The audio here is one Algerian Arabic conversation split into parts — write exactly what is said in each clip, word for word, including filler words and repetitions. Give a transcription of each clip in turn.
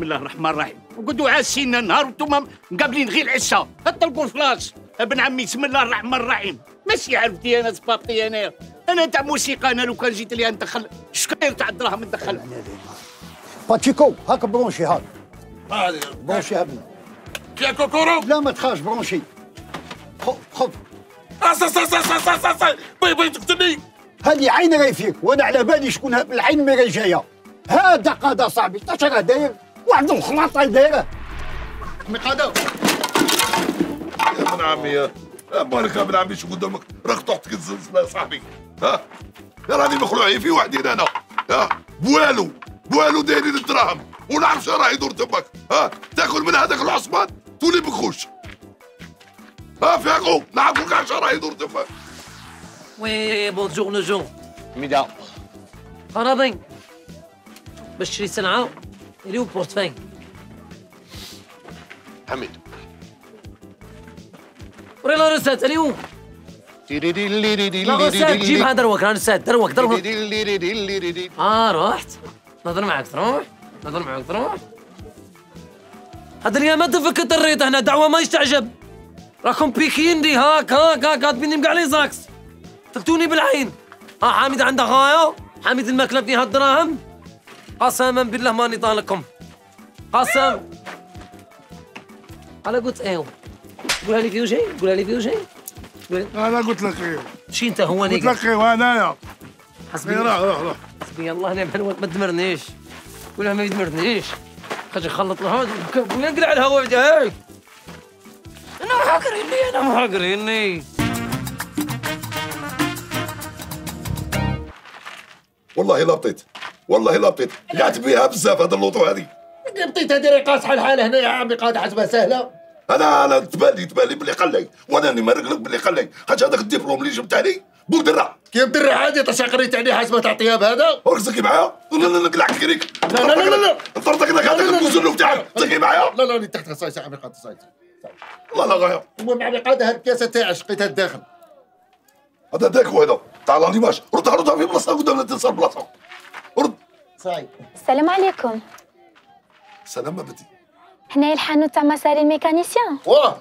بسم الله الرحمن الرحيم وقعدوا عاسين النهار وانتم مقابلين غير العشاء طلقوا الفلاش. ابن عمي بسم الله الرحمن الرحيم ماشي عرفتي انا سبابتي انايا انا تاع موسيقى. انا لو كان جيت لي ندخل شكاير تاع الدراهم ندخل. باتشيكو هاك برونشي هاك هذه برونشي هبنا فيها كوكورو. لا ما تخافش برونشي. خذ خذ أص أص أص أص أص أص بي بي تقتلني. هذه عين راهي فيك وانا على بالي شكون العين مي راهي جايه. هذا قاده صاحبي اش راه داير واحد الخلاطه دايره مقاده. يا ابن عمي يا مالك يا ابن عمي شو قدامك راك طحت الزلزله يا صاحبي. ها يا راني مخلوعين في وحدين انا. ها بوالو بوالو دايرين الدراهم ونعرف شنو راه يدور تماك. ها تاكل من هذاك العصمان تولي بخوش. ها فيقو نعرفوا كاع شنو راه يدور تماك. وي بونجور نجوم ميدا فراضي باش تشري سلعه اللي بورتفاي. حميد وري لا رسات اليوم لا رسات جيبها دروك راه رسات دروك دروك. اه رحت نهضر معاك تروح نهضر معاك تروح. هذا اليوم ما تفك الريط هنا دعوه ما يستعجب. راكم بيكين دي هاك هاك هاك كاتبين كاع لي زاكس قتلتوني بالعين. ها حامد عنده غايه حامد الماكله فيها الدراهم. قسما بالله ماني طالقكم قسم. انا قلت ايوا قولها لي فيه شيء قولها لي فيه شيء. انا قلت لك ايه شي انت هو قلت لك ايه انايا. حسبي روح روح روح حسبي الله ونعم الوكيل. ما تدمرنيش قولها ما يدمرنيش خرج يخلط الهواء نقلع الهواء هاي. انا محاقريني انا محاقريني. والله لا بطيت والله لا بطيت قعدت بيها بزاف هذا اللوطو هذه. بطيت هذه راه قاصحه الحال هنا يا عمي قاعده حسبها سهله. انا انا تبان لي تبان لي بلي قلي وانا راني مارق لك بلي قلي خاطر هذاك الدبلوم اللي جبت عليه بودره. كي مدرع عادي تاش قريت عليه حسبه تاع طياب هذا. راك تزكي معايا؟ لا لا لا نقلعك كريك. لا لا لا لا نطردك لك هذاك الكوزلو تاعك تزكي معايا؟ لا لا اللي تحت صايص عمي قاعده صايص. والله لا غايه. المهم عمي قاعده هاد الكاسه تاعي شقيتها الداخل. هذا داكو هذا تاع لانيماج ردها ردها في بلاصتها قدام لا تنسى البلاصه. رد. صاي السلام عليكم. سلام بنتي. هنا الحانوت تاع مساري الميكانيسيان. واه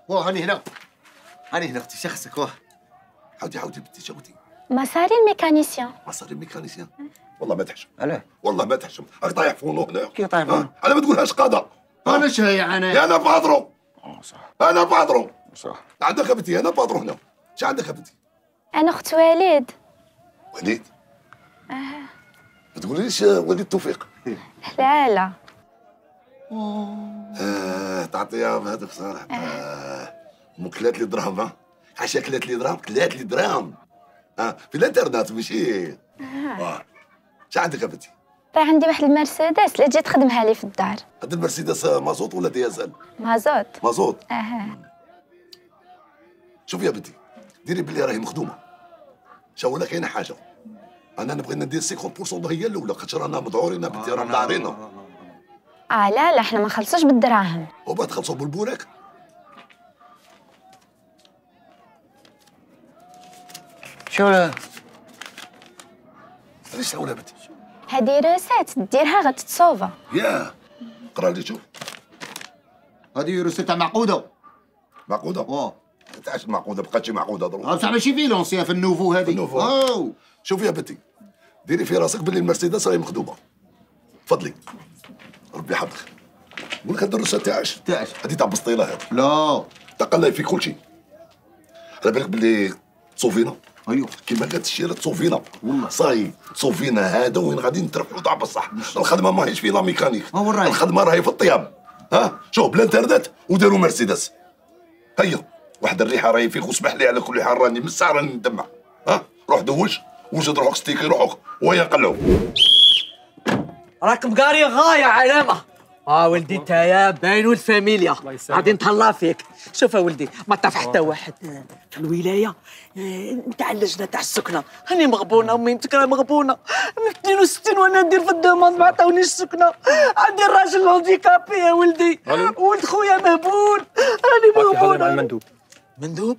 واه هاني هنا هاني هنا اختي شخصك واه. حاودي حاودي بنتي شاودي. مساري الميكانيسيان. مساري الميكانيسيان. والله ما تحشم. علاه؟ والله ما تحشم راك طايح فونو هنا. كي طايح فونو؟ على ما تقولهاش قاده. انا شاي انا يا انا بادرو. اه صح انا بادرو. صح. عندك يا بنتي انا بادرو هنا. اش عندك يا بنتي؟ انا اخت وليد. وليد. اه ما تقوليش وليد توفيق. لا لا اه تعطيها بهذوك صراحه. اه مكلات لي دراهم ها. عشا كلات لي دراهم كلات لي دراهم. اه في الانترنت ماشي. اه اش عندك يا بنتي؟ راه عندي واحد المرسيدس اللي تجي تخدمها لي في الدار. هاد المرسيدس مازوت ولا ديازل؟ مازوت. مازوت. اها شوفي يا بنتي ديري بلي راهي مخدومه. شو ولا كاينه حاجه انا نبغي ندير خمسين بالمية هي الاولى خاطر رانا مذعورين بنتي رانا دارينا. اه لا لا احنا ما نخلصوش بالدراهم. وبعد تخلصوا بالبوراك. شو لا علاش ولا بنتي؟ هذه روسات ديرها غتتصوفا. ياه قرا لي شوف. هذه روسيت تاع معقوده. معقوده؟ واه تعاش معقوده بقات شي معقوده دروك. بصح ماشي في لونسيا في النوفو هذه. النوفو. اوه شوفي يا بنتي ديري في راسك باللي المرسيدس راهي مخدومه. تفضلي ربي يحفظك. نقول لك هاد الروسه تاعش تاعش هادي تاع بسطيله هادي. لا تقلي في كل شيء. على بالك باللي تصوفينا. ايوه كيما قالت الشيره تصوفينا والله صاي تصوفينا هذا وين غادي نتربحوا تاع بصح. الخدمه ماهيش في لا ميكانيك. ها وين راهي؟ الخدمه راهي في الطياب. ها شوف بالانترنت وديروا مرسيدس. هيا واحد الريحه راهي فيك واسمح لي على كل حال راني من الساعه راني ندمع. ها روح دوش وجد روحك ستيكي روحك ويا نقلعوا. راك مقاري غايه علامه. اه ولدي نتايا باين ولد فاميليا غادي نتهلا فيك. شوف يا ولدي ما طاف حتى واحد في الولايه نتاع اللجنه تاع السكنه. هاني مغبونه وميمتك راه مغبونه من اثنين وستين وانا ندير في الدوموند ما عطاونيش السكنه. عندي الراجل هانديكابي يا ولدي ولد خويا مهبول راني مغبونه. المندوب مندوب؟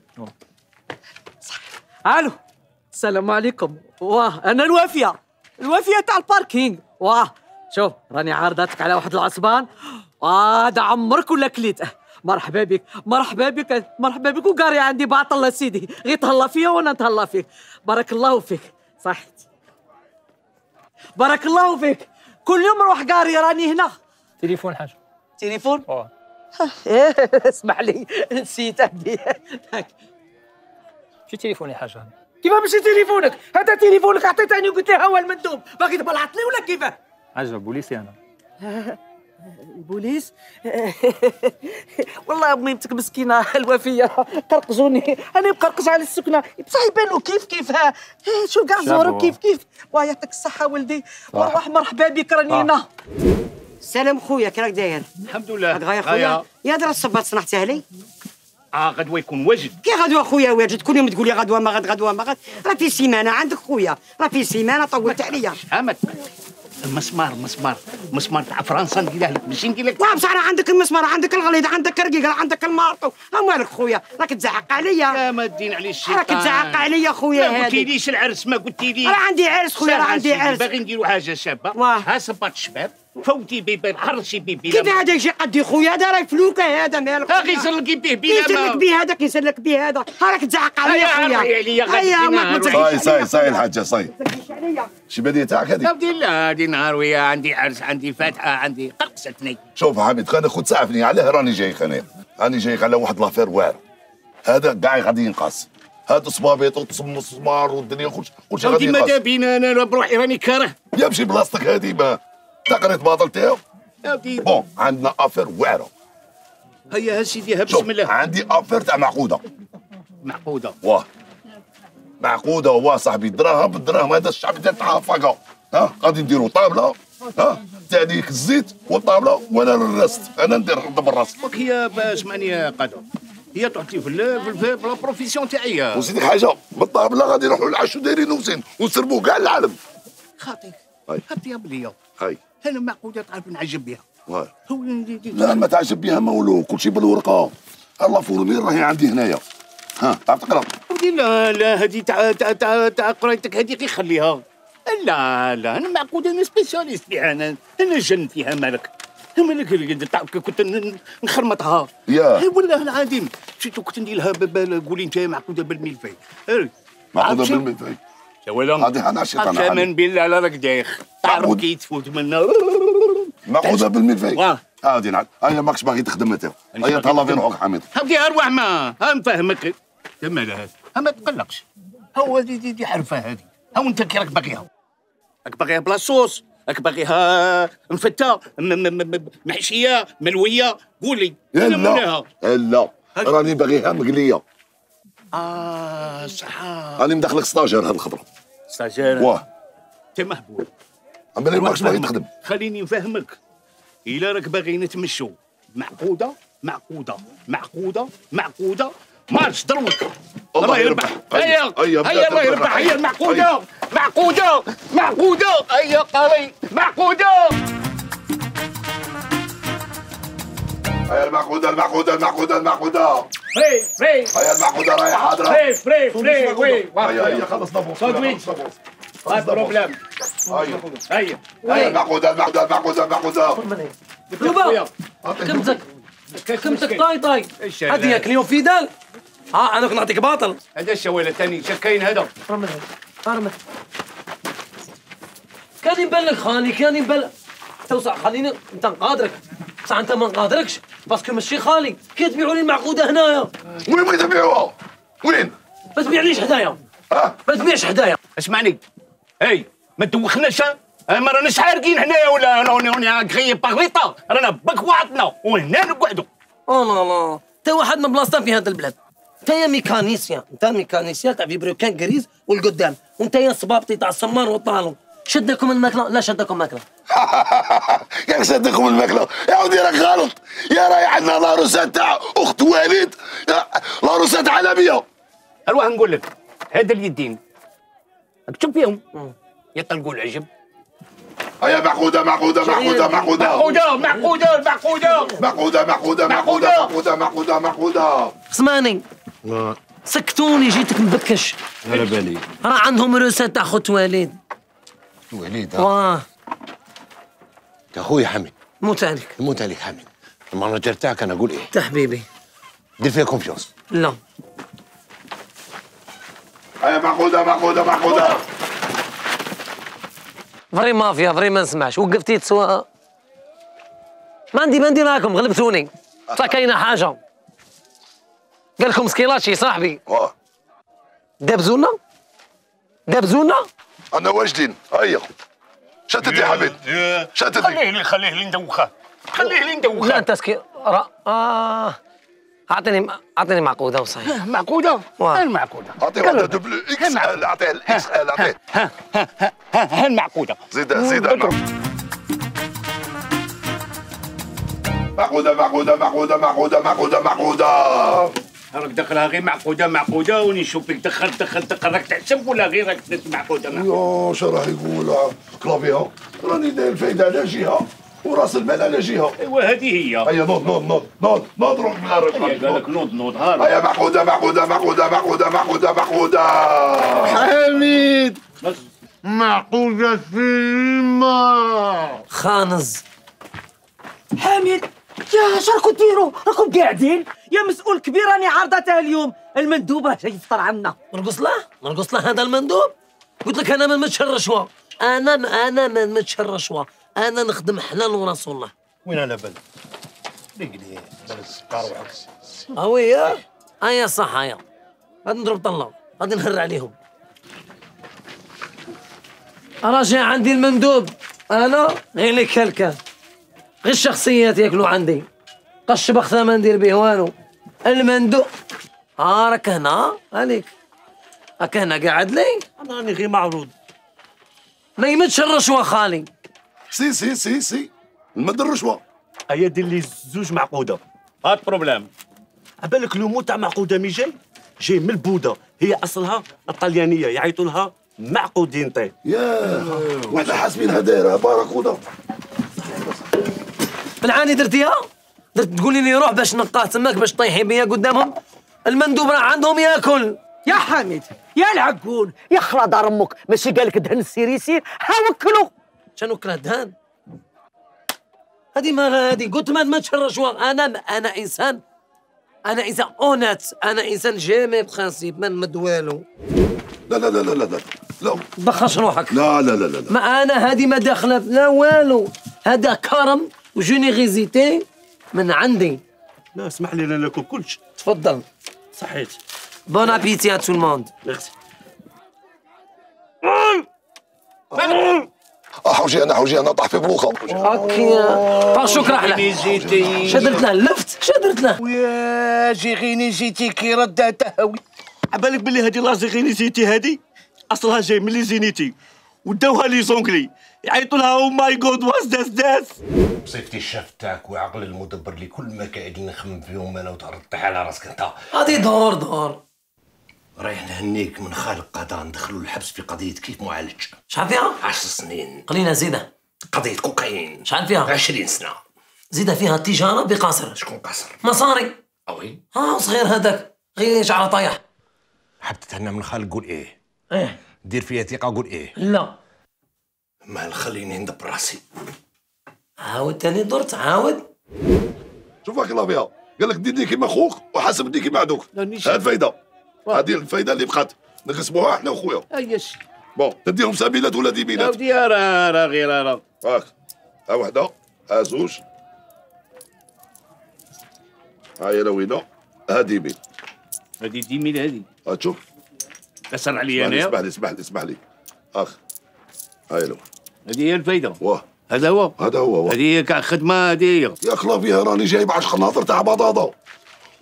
الو السلام عليكم. واه انا الوافيه الوافيه تاع الباركينغ. واه شوف راني عارضاتك على واحد العصبان وهذا عمرك ولا كليته. مرحبا بك مرحبا بك مرحبا بك وقاري عندي باطل سيدي، غير تهلا فيا وانا نتهلا فيك. بارك الله فيك صحتي. بارك الله فيك. كل يوم نروح قاري راني هنا. تليفون حاجه. تليفون؟ اه اسمح لي نسيت عندي. شو تليفوني حاجه؟ كيفاه ماشي تليفونك؟ هذا تليفونك عطيتني وقلت لي ها هو المندوب، باغي تبلعطني ولا كيفاه؟ حاجه بوليسي انا. البوليس؟ والله ميمتك مسكينه الوفيه قرقزوني، انا مقرقز على السكنه بصح يبانوا كيف كيف. ها شو كاع زورو كيف كيف. واه يعطيك الصحه ولدي. وروح مرحبا بك راني هنا. سلام خويا كي راك داير؟ الحمد لله. غايا خويا يا درا الصباط صنعتها لي. اه غدوه يكون واجد. كي غدوه خويا واجد؟ كل يوم تقول لي غدوه ما غد غدوه ما غد. راه في سيمانه عندك خويا، راه في سيمانه طولت عليا. فهمت. المسمار مسمار مسمار تاع فرنسا نديره لك ماشي ندير لك. واه بصح راه عندك المسمار، عندك الغليظ، عندك الرقيق، عندك المارطو. ها مالك خويا؟ راك تزعق عليا. يا ما الدين عليه الشيطان. راك تزعق عليا خويا. ما قلتيليش العرس، ما قلتيليش. راه عندي عرس خويا، راه عندي عرس. باغي نديروا حاجه شابه. واه. ها صباط الشباب فوتي بيبي حرشي بيبي. كيف هذا يجي قدي خويا؟ هذا راه فلوكه هذا مالك. ها غير يسلقي به بلا ما كيسلك به هذا كيسلك به هذا. ها راك تزعق عليا خويا. هيا ما صاي صاي صاي الحاجه صاي. شي بديه تاعك هذه؟ عبد الله هذه نهار ويا عندي عرس، عندي فاتحه، عندي قرقستني. شوف حميد خلينا خذ سعفني علاه راني جاي خلينا راني جاي على واحد لافير واعره. هذا كاع غادي ينقص. هذا صبابيط وتصمصمار والدنيا كلشي كلشي غادي ينقص. ماذا بينا انا بروحي راني كاره. يا مشي بلاصتك هذه ما تقريت باطل تاعو. بون عندنا افير واعره. هيا ها سيدي ها بسم الله. عندي افير تاع معقوده. معقوده؟ واه معقوده واه صاحبي. دراهم بالدراهم. هذا الشعب تاع فقا. ها غادي نديروا طابله ها تاع ديك الزيت والطابله وانا الرست انا ندير نضرب الراس. هي اسمعني يا قدر، هي تعطي في في لا بروفيسيون تاعي. وزيدك حاجه بالطابله غادي نروحوا للعشو دايرين وزين ونسربوا كاع العالم. خاطيك هاي هطيب ليا. هاي انا معقوده تعرف نعجب بها. هاي هو لا ما تعجب بها ما ولو كلشي بالورقه. الله فورمي راهي عندي هنايا. ها تعرف تقرا؟ لا لا هذه تاع تاع تاع تاع قرايتك هذه غير خليها. لا لا انا معقوده انا سبيسياليست فيها. انا انا جن فيها مالك. مالك تعرف كنت نخرمطها. يا والله العظيم شفتو كنت ندير لها قولي انت معقوده بالملفي. معقوده بالملفي يا ولا هذه انا شيطان. كمان بالله على راك دايخ. تعرف كي تفوت منا معقوده بالملفي. واه هادي نعم. هيا ماكش باغي تخدم انت. هيا تهلا في روحك حميد. هاكي اروح ما ها نفهمك. تما هذا ما تقلقش. هو دي دي, دي حرفه هذه. هاو انت كي راك باغيها. راك باغيها بلا صوص، راك باغيها مفته محشيه ملويه. قول لي لا لا راني باغيها مقليه. اه صح. راني مدخلك ستاجير هاد الخضره. ستاجير؟ واه انت مهبول. اما اللي ماكش باغي تخدم. خليني نفهمك. الا راك باغي نتمشوا معقوده معقوده معقوده معقوده مارش دروك. الله يربح. هيا هيا الله يربح. هيا المعقوده معقوده معقوده. هيا قاري معقوده. هيا المعقوده المعقوده المعقوده المعقوده. فري فري. هيا المعقوده راهي حاضره. فري فري فري وي. هيا هيا خلصنا بوس. صدوي هاي بروبليم. هيا هيا هيا المعقوده المعقوده المعقوده المعقوده. لوبا كمتك كمتك طاي طاي. هذه ياك اليوم في دال. ها انا كنت نعطيك باطل. هذا الشويله ثاني شكاين هذا. رمي رمي كان يبان لك خالي، كان يبان لك توسع. خليني انت نقادرك بصح انت ما نقادركش باسكو ماشي خالي. كي تبيعوا لي المعقوده هنايا. وين بغيت تبيعوها؟ وين؟ ما تبيعليش حدايا. اه ما تبيعش حدايا. اسمعني هاي ما تدوخناش. ما راناش حارقين هنايا ولا راني كغي باغريطا. رانا باك وعطنا وهنا نقعدوا. او لا لا انت واحد من بلاصتها في هذا البلاد. انت يا ميكانيسيان، انت ميكانيسيان تاع فيبروكان كريز والقدام، وانت يا صبابطي تاع السمار والطالون. شدكم الماكله؟ لا شدكم ماكله. ياك شدكم الماكله يا ودي راك غلط. يا راهي عندنا لاروسات تاع اخت وليد، لاروسات عالميه. اروح نقول لك هذا اليدين راك تشوف فيهم يطلقوا العجب. هيا معقوده معقوده معقوده معقوده معقوده معقوده معقوده معقوده معقوده معقوده معقوده معقوده معقوده. اسمعني سكتوني جيتك مبكش. على بالي راه عندهم روسات تاع خوت وليد. وليد واه يا خويا حميد. موت عليك. موت عليك حميد. المانجر تاعك انا اقول ايه؟ انت حبيبي. دير فيها كونفيونس. لا. هيا معقوده معقوده معقوده. فري مافيا فري ما نسمعش، وقفتي تسوى. ما عندي ما ندير معاكم، غلبتوني. صح كاينه حاجه. قال لكم سكيلاتشي صاحبي. واه. دابزونا؟ دابزونا؟ انا واجدين هيا. شاتت يا حميد. شاتت. خليه لي خليه لي ندوخه. خليه لي ندوخه. لا انت سكي را اه اعطيني اعطيني معقوده وصحيح. معقوده؟ وين المعقوده؟ اعطيه واحده دبل اكس ال اعطيه الاكس ال اعطيه. ها ها ها ها المعقوده. زيدها زيدها. معقوده معقوده معقوده معقوده معقوده معقوده. راك دخلها غير معقوده معقوده وني نشوف فيك دخل دخل دخل راك تحسب ولا غير راك معقوده معقوده. يو شو راه يقول كلافيها راني داير الفايده على جهه وراس المال على جهه. ايوا هذه هي. هيا نوض نوض نوض نوض نوض روح من الرجل. قال لك نوض نوض هارب. هيا معقوده معقوده معقوده معقوده معقوده معقوده. حميد بس معقوده فيلما خانز. حميد يا اش راكم ديروا؟ راكم قاعدين؟ يا مسؤول كبير راني عارضتها اليوم، المندوب راه جاي يفطر عنا. نرقص له؟ نرقص له هذا المندوب؟ قلت لك انا ما نمدش الرشوه، انا انا ما نمدش الرشوه، انا نخدم حلال ورسول الله. وين انا بل؟ رجلي بل السكر وعكس. اوي هيا صح هيا. غادي نضرب طله، غادي نهر عليهم. راجع عندي المندوب، انا غير لك كلكه. غير الشخصيات ياكلوا عندي. قش بخثه ما ندير به والو. المندوب اه راك هنا عليك. راك هنا قاعد لي؟ انا راني غير معروض. ما يمدش الرشوه خالي. سي سي سي سي نمد الرشوه. هيا دير لي زوج معقوده. هاد بروبليم. عبالك لومو تاع معقوده مي جاي؟ جاي من البوده، هي اصلها الطليانيه يعيطوا لها معقودينتي. يا وحده حاسبينها دايره باراكودا. بالعاني درتيها؟ درت تقولي لي روح باش نقاه تماك باش طيحي بيا قدامهم؟ المندوب راه عندهم ياكل. يا حميد يا العقول يا خلا دار امك، ماشي قالك دهن السير يسير، ها وكلوا. شنو وكله دهان؟ هذه مالها هذه؟ قلت ما نمدش الرشوه، انا انا انسان انا انسان اونات، انا انسان جامي بخانسيب ما نمد والو. لا لا لا لا لا لا بخش روحك. لا لا لا لا ما انا هذه ما داخله لا والو، هذا كرم وجينيغيزيتي من عندي. لا اسمح لي انا ناكل كلش. تفضل. صحيت. بون ابيتي ا تو الموند. ميرسي. حوجي انا حوجي انا طاح في بلوخه. هكا طاشوك رحله. شدرت له لفت شدرت له. ويا جيغيني جيتي كي ردها تهوي. عبالك بلي هذه لا جيغيني جيتي هذه اصلها جاي من لي زينيتي وداوها لي زونكلي يعيطوا لها او ماي جود واز داس داس. بصفتي الشاف تاعك وعقل المدبر اللي كل ما قاعدين نخمم فيهم انا وتطيح على راسك انت. هذه دور دور. رايح نهنيك من خالق قضاء ندخلوا الحبس في قضيه كيف معالج. شحال فيها؟ عشر سنين. قلينا زيده. قضيه كوكايين. شحال فيها؟ عشرين سنه. زيده فيها تجاره بقاصر. شكون قاصر؟ مصاري. اوي. ها صغير هذاك غير شعره طايح. حاب تتهنى من خالق قول ايه. ايه. دير فيها ثقه قول ايه. لا. ما خليني ندبر راسي. عاود تاني درت عاود. شوف هاك لافيا قال لك ديرني كيما خوك وحاسبني كيما عدوك. هاد الفايده. هذه الفايده اللي بقات نقسموها احنا وخويا. ايش بون تديهم سبيلات ولا ديبيلات؟ ودي راه راه غير راه هاك ها وحده ها زوج ها هي لوينه ها ديبيل. هذه ديميل هذه. ها تشوف كسر عليا اسمح لي انا. اسمح لي اسمح لي اخ هاي لو هذه هي الفايده. واه هذا هو هذا هو هذه هي كاع خدمه هذه هي. يا كلافيها راني جايب عشر خناطر تاع بطاطا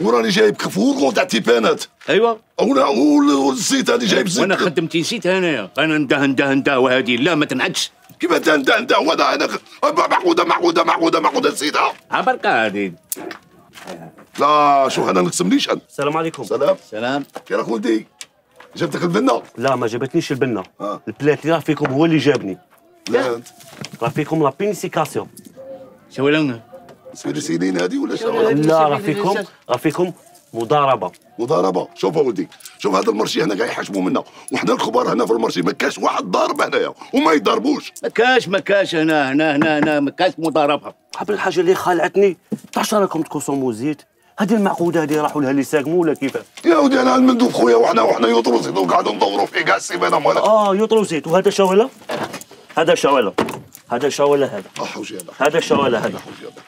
وراني جايب كفور تاع تيبانات. ايوا ولا والزيت هذه جايب زيت. وانا خدمتي نسيت انايا انا نده نده نده وهذه لا ما تنعدش. كيف انت انت انت وانا انا معقوده معقوده معقوده معقوده نسيتها. عبركه هذه. لا شوف انا نقسم ليش انا. السلام عليكم. سلام. سلام. كي راك ولدي؟ جبتك البنه؟ لا ما جابتنيش البنه. آه. البلات اللي راه فيكم هو اللي جابني. لا انت راه فيكم لا بينيسيكاسيون. شو لونه؟ سير سنين هذه ولا شو؟ لا راه فيكم راه فيكم مضاربه مضاربه. شوف اولدي، شوف هذا المرشي هنا قاعد يحشموا منا، وحنا الكبار هنا في المرشي ما كاش واحد ضارب هنايا وما يضربوش. ما كاش ما كاش هنا هنا هنا هنا ما كاش مضاربه. قبل الحاجه اللي خالعتني تعرفش راكم تقسموا زيت، هذه المعقوده هذه راحوا لها اللي ساقموا ولا كيفاه؟ يا ودي انا المندوب خويا وحنا وحنا يطروا زيت وقاعدوا ندوروا فيه كاع السيمانه مالك. اه يطروا زيت. وهذا شواله، هذا شواله، هذا شواله، هذا احوجي هذا هذا شواله، هذا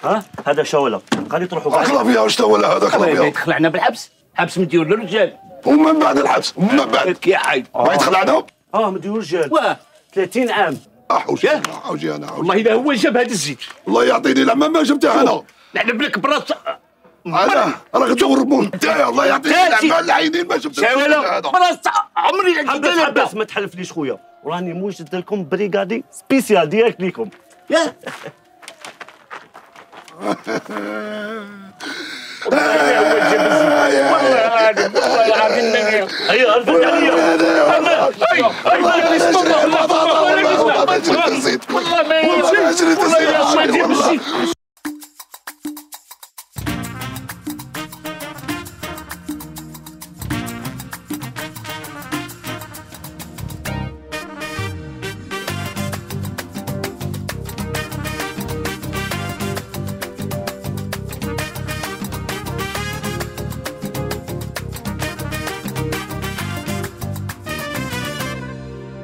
ها هذا شواله. قال تروحوا كاع اخلا فيها واش ولا هذا اخلا فيها. يدخل علينا بالحبس، حبس مديور للرجال. ومن بعد الحبس ومن بعد يا حي ما يدخل علينا. اه مديور رجال واه ثلاثين عام. احوجي احوجي انا والله اذا هو جاب هذا الزيت الله يعطيني العمى ما جبته انا. نعلم لك براس انا راك تدور بون نتايا الله يعطيك العمى العينين ما جبت هذا براس عمري حبس حبس ما تحلفليش خويا، وراني موجد لكم بريغادي سبيسيال ديريكت ليكم. يا والله العظيم هيا ارفد عليا. والله ما يجري والله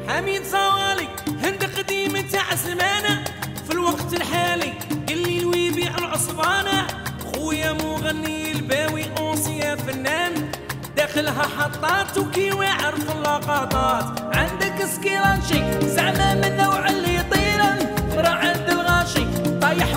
حميد صوالي هند قديم تاع زمانه في الوقت الحالي اللي ويبيع العصبانه خويا مغني الباوي اوصيا فنان داخلها حطات وكي ويعرف اللقطات عندك سكيرانشي زعما من نوع اللي يطيرن راه عند الغاشي طايح